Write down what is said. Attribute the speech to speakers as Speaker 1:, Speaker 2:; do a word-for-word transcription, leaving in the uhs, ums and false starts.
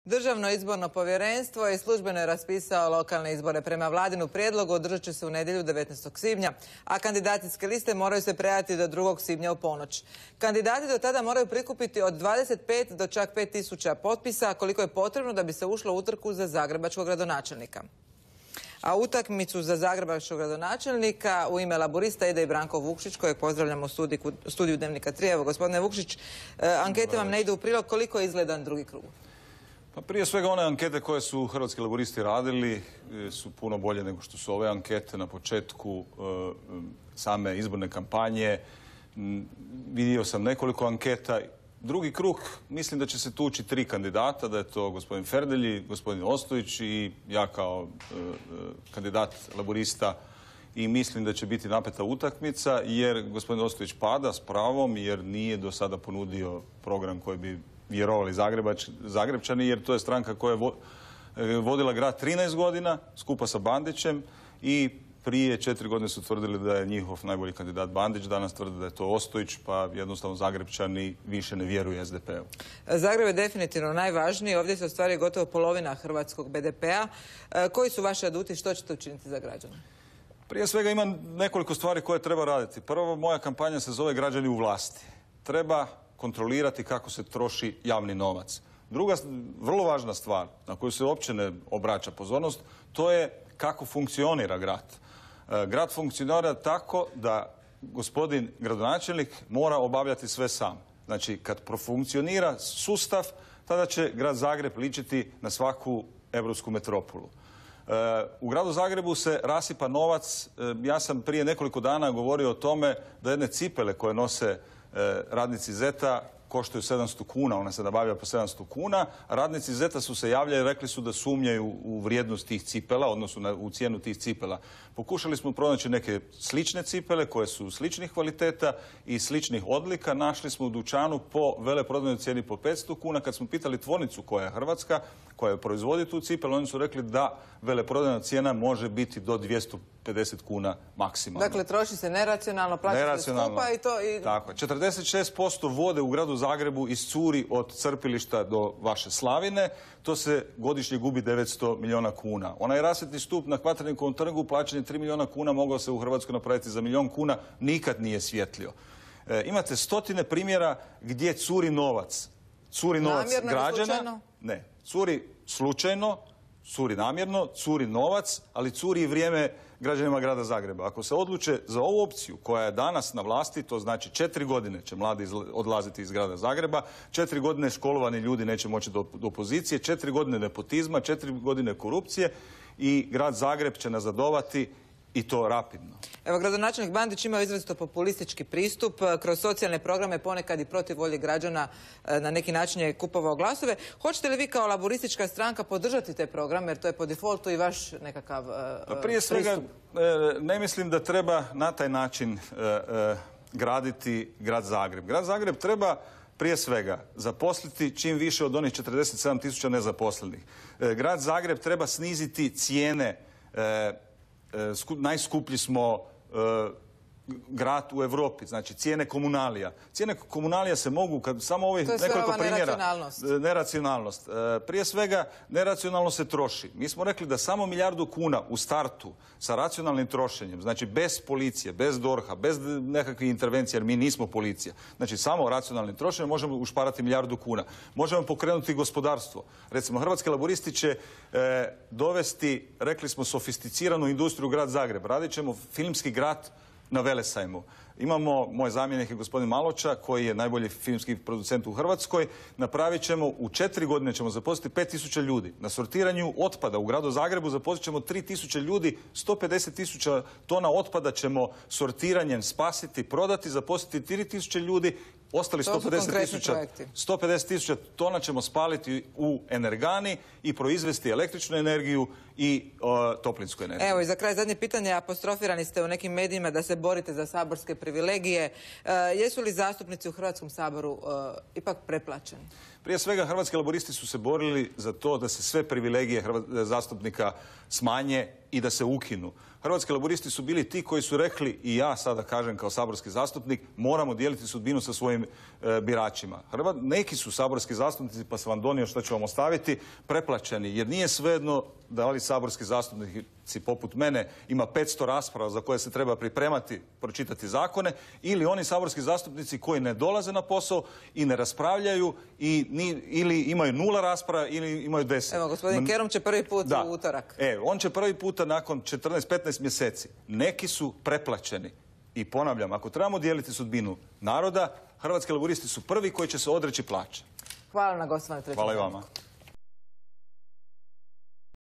Speaker 1: Državno izborno povjerenstvo je službeno raspisao lokalne izbore. Prema vladinu prijedlogu održat će se u nedjelju devetnaestog svibnja, a kandidacijske liste moraju se predati do drugog svibnja u ponoć. Kandidati do tada moraju prikupiti od dvadeset pet do čak pet tisuća potpisa, koliko je potrebno da bi se ušlo u utrku za zagrebačkog gradonačelnika. A utakmicu za zagrebačkog gradonačelnika u ime Laburista ide i Branko Vukšić, kojeg pozdravljamo u studiju Dnevnika tri. Evo, gospodine Vukšić, ankete vam ne idu u prilog. Koliko je izgledan drugi krug?
Speaker 2: Pa prije svega one ankete koje su Hrvatski laburisti radili su puno bolje nego što su ove ankete na početku same izborne kampanje. Vidio sam nekoliko anketa. Drugi krug, mislim da će se tući tri kandidata, da je to gospodin Ferdelji, gospodin Ostojić i ja kao kandidat laburista, i mislim da će biti napeta utakmica jer gospodin Ostojić pada s pravom jer nije do sada ponudio program koji bi vjerovali Zagrebčani, jer to je stranka koja je vodila grad trinaest godina skupa sa Bandićem i prije četiri godine su tvrdili da je njihov najbolji kandidat Bandić, danas tvrde da je to Ostojić, pa jednostavno Zagrebčani više ne vjeruju es de pe u.
Speaker 1: Zagreb je definitivno najvažniji, ovdje se ostvaruje gotovo polovina hrvatskog be de pe a. Koji su vaši aduti, što ćete učiniti za građane?
Speaker 2: Prije svega ima nekoliko stvari koje treba raditi. Prvo, moja kampanja se zove Građani u vlasti. Treba kontrolirati kako se troši javni novac. Druga, vrlo važna stvar na koju se uopće ne obraća pozornost, to je kako funkcionira grad. Grad funkcionira tako da gospodin gradonačelnik mora obavljati sve sam. Znači, kad profunkcionira sustav, tada će grad Zagreb ličiti na svaku europsku metropolu. U gradu Zagrebu se rasipa novac. Ja sam prije nekoliko dana govorio o tome da jedne cipele koje nose radnici Zeta koštaju sedamsto kuna, ona se nabavlja po sedamsto kuna. Radnici Zeta su se javljali i rekli su da sumnjaju u vrijednost tih cipela, odnosno u cijenu tih cipela. Pokušali smo pronaći neke slične cipele koje su sličnih kvaliteta i sličnih odlika. Našli smo u dućanu po veleprodajnoj cijeni po petsto kuna. Kad smo pitali tvornicu koja je hrvatska, koja proizvodi tu cipelu, oni su rekli da veleprodajna cijena može biti do dvjesto pedeset kuna maksimalno.
Speaker 1: Dakle, troši se neracionalno, plaća se skupa i to... I...
Speaker 2: Tako je. četrdeset šest posto vode u gradu Zagrebu iscuri od crpilišta do vaše Slavine. To se godišnje gubi devetsto milijuna kuna. Onaj rasvjetni stup na Kvaternikom trgu plaćen je tri milijuna kuna, mogao se u Hrvatskoj napraviti za milijun kuna, nikad nije svjetlio. E, imate stotine primjera gdje curi novac. Curi novac
Speaker 1: namjerno
Speaker 2: građana.
Speaker 1: Slučajno?
Speaker 2: Ne, curi slučajno, curi namjerno, curi novac, ali curi i vrijeme građanima grada Zagreba. Ako se odluče za ovu opciju koja je danas na vlasti, to znači četiri godine će mladi odlaziti iz grada Zagreba, četiri godine školovani ljudi neće moći do, do pozicije, četiri godine nepotizma, četiri godine korupcije i grad Zagreb će nazadovati i to rapidno.
Speaker 1: Evo, gradonačelnik Bandić ima izrazito populistički pristup. Kroz socijalne programe ponekad i protiv volje građana na neki način je kupovao glasove. Hoćete li vi kao laburistička stranka podržati te programe, jer to je po defaultu i vaš nekakav pristup?
Speaker 2: Pa prije svega ne mislim da treba na taj način graditi grad Zagreb. Grad Zagreb treba prije svega zaposliti čim više od onih četrdeset sedam tisuća nezaposlenih. Grad Zagreb treba sniziti cijene. Najskuplji smo grad u Europi, znači cijene komunalija. Cijene komunalija se mogu, kad samo ovih nekoliko primjera...
Speaker 1: neracionalnost.
Speaker 2: Neracionalnost. Prije svega, neracionalno se troši. Mi smo rekli da samo milijardu kuna u startu sa racionalnim trošenjem, znači bez policije, bez dorha, bez nekakvih intervencija, jer mi nismo policija. Znači samo racionalnim trošenjem možemo ušparati milijardu kuna. Možemo pokrenuti gospodarstvo. Recimo, Hrvatski laburisti će e, dovesti, rekli smo, sofisticiranu industriju u grad Zagreb. Radit ćemo filmski grad na Velesajmu. Imamo, moj zamjenik je gospodin Maloča, koji je najbolji filmski producent u Hrvatskoj. Napravit ćemo, u četiri godine ćemo zaposliti pet tisuća ljudi. Na sortiranju otpada u gradu Zagrebu zaposlit ćemo tri tisuće ljudi, sto pedeset tisuća tona otpada ćemo sortiranjem spasiti, prodati, zaposliti tri tisuće ljudi. Ostali sto pedeset tisuća tona ćemo spaliti u energani i proizvesti električnu energiju i o, toplinsku energiju.
Speaker 1: Evo, i za kraj zadnje pitanje. Apostrofirani ste u nekim medijima da se borite za saborske privilegije. E, jesu li zastupnici u Hrvatskom saboru e, ipak preplaćeni?
Speaker 2: Prije svega, Hrvatski laburisti su se borili za to da se sve privilegije zastupnika smanje i da se ukinu. Hrvatski laburisti su bili ti koji su rekli, i ja sada kažem kao saborski zastupnik, moramo dijeliti sudbinu sa svojim e, biračima. Hrvat, neki su saborski zastupnici, pa sam vam donio što ću vam ostaviti, preplaćeni, jer nije svejedno da li saborski zastupnici poput mene ima petsto rasprava za koje se treba pripremati, pročitati zakone, ili oni saborski zastupnici koji ne dolaze na posao i ne raspravljaju i ni, ili imaju nula rasprava ili imaju deset.
Speaker 1: Evo, gospodin Kerum će prvi put
Speaker 2: da.
Speaker 1: u utorak.
Speaker 2: E, on će prvi puta nakon četrnaest petnaest mjeseci. Neki su preplaćeni. I ponavljam, ako trebamo dijeliti sudbinu naroda, Hrvatski laburisti su prvi koji će se odreći plaće.
Speaker 1: Hvala na gostovanju.
Speaker 2: Hvala i vama.